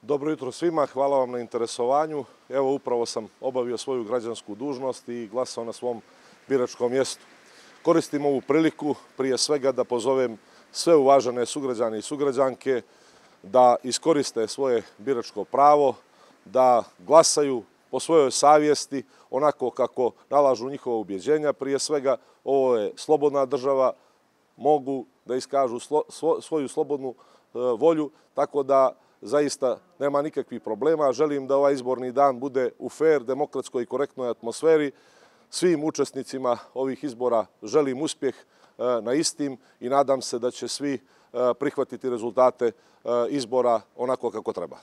Dobro jutro svima, hvala vam na interesovanju. Evo, upravo sam obavio svoju građansku dužnost i glasao na svom biračkom mjestu. Koristim ovu priliku prije svega da pozovem sve uvažene sugrađane i sugrađanke da iskoriste svoje biračko pravo, da glasaju po svojoj savjesti onako kako nalažu njihova ubjeđenja. Prije svega, ovo je slobodna država, mogu da iskažu svoju slobodnu volju, tako da zaista nema nikakvih problema. Želim da ovaj izborni dan bude u fer, demokratskoj i korektnoj atmosferi. Svim učesnicima ovih izbora želim uspjeh na istim i nadam se da će svi prihvatiti rezultate izbora onako kako treba.